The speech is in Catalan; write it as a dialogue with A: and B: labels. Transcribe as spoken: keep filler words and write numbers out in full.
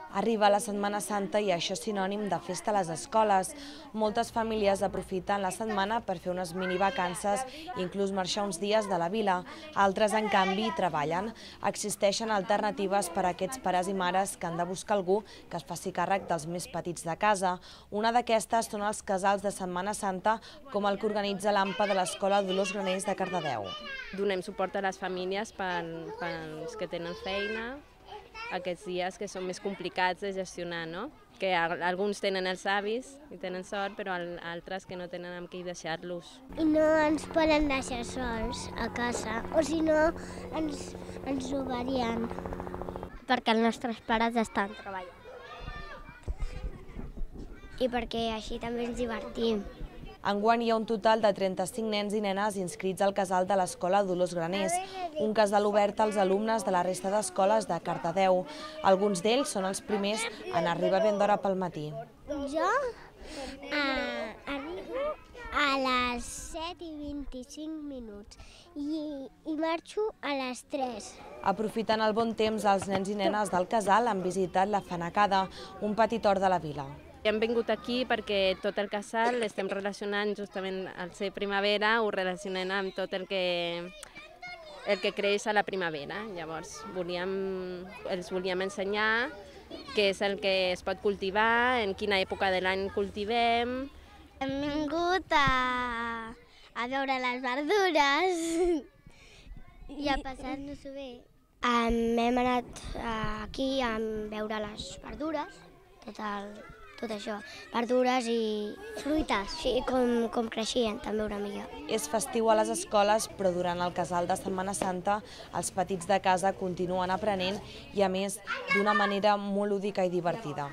A: Arriba la Setmana Santa i això és sinònim de festa a les escoles. Moltes famílies aprofiten la setmana per fer unes minivacances i inclús marxar uns dies de la vila. Altres, en canvi, treballen. Existeixen alternatives per a aquests pares i mares que han de buscar algú que es faci càrrec dels més petits de casa. Una d'aquestes són els casals de Setmana Santa, com el que organitza l'A M P A de l'Escola Dolors Graners de Cardedeu.
B: Donem suport a les famílies pels que tenen feina, aquests dies que són més complicats de gestionar, no? Que alguns tenen els avis i tenen sort, però altres que no tenen amb qui deixar-los.
C: I no ens poden deixar sols a casa, o si no ens, ens robarien. Perquè els nostres pares estan treballant. I perquè així també ens divertim.
A: Enguany hi ha un total de trenta-cinc nens i nenes inscrits al casal de l'Escola Dolors Graners, un casal obert als alumnes de la resta d'escoles de Cardedeu. Alguns d'ells són els primers en arribar ben d'hora pel matí.
C: Jo eh, arribo a les set i vint-i-cinc minuts i, i marxo a les tres.
A: Aprofitant el bon temps, els nens i nenes del casal han visitat la Fanecada, un petit hort de la vila.
B: Hem vingut aquí perquè tot el casal l'estem relacionant justament al ser primavera, ho relacionem amb tot el que, el que creix a la primavera. Llavors volíem, els volíem ensenyar què és el que es pot cultivar, en quina època de l'any cultivem.
C: Hem vingut a, a veure les verdures i a passar-nos-ho bé. Um, hem anat aquí a veure les verdures, tot el... tot això, verdures i fruites, sí, com, com creixien també una mica.
A: És festiu a les escoles, però durant el casal de Setmana Santa els petits de casa continuen aprenent i, a més, d'una manera molt lúdica i divertida.